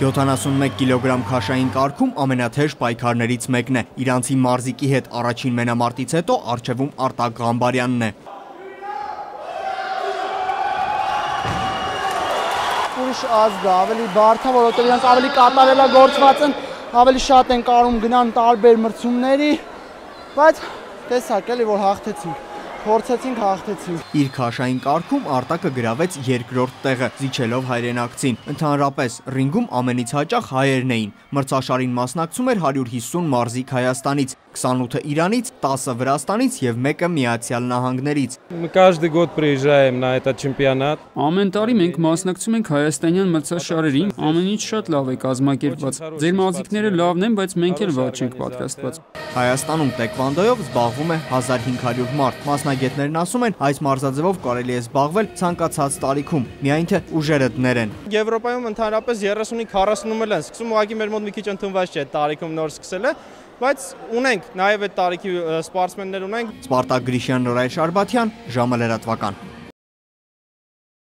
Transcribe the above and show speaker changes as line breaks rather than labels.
71 կիլոգրամ քաշային կարգում ամենաթեժ պայքարներից մեկն է։ Իրանցի մարզիկի հետ առաջին մենամարտից հետո առջևում Արտակ Ղամբարյանն է։
Ուրիշ ազգ է, ավելի բարդ է, որովհետև իրենք ավելի կատարելագործված են, ավելի շատ են կարում գնան տարբեր մրցումների, բայց տեսակ էլի որ հաղթեցինք։ Փորձեցինք հաղթեցինք։
Իր քաշային կարգում Արտակը գրավեց երկրորդ տեղը, զիջելով հայրենակցին։ Ընդհանրապես ռինգում ամենից հաճախ հայերն էին։ Մրցաշարին մասնակցում էր 150 մարզիկ Հայաստանից, 28-ը Իրանից, 10-ը Վրաստանից եւ 1-ը Միացյալ Նահանգներից։
Каждый год приезжаем на этот чемпионат։
Ամեն տարի մենք մասնակցում ենք հայաստանյան մրցաշարերին, ամեն ինչ շատ լավ է կազմակերպված։ Ձեր մարզիկները լավն են, բայց մենք էլ վատ չենք պատրաստված։
Հայաստանում տեքվանդոյով զբաղվում է 1500 մարդ։ Մասնագետներն ասում են, այս մարզաձևով կարելի է զբաղվել ցանկացած տարիքում, միայն թե ուժերը դներեն։
Եվրոպայում ընդհանրապես 35-40-ում են սկսում, ուղղակի մեր մոտ մի քիչ ընդունված չէ տարիքում նոր սկսելը, բայց ունենք նաև այդ տարիքի սպորտսմեններ ունենք։
Սպարտակ Գրիշյան, Նորայր Շարբաթյան, ժամը լրատվական։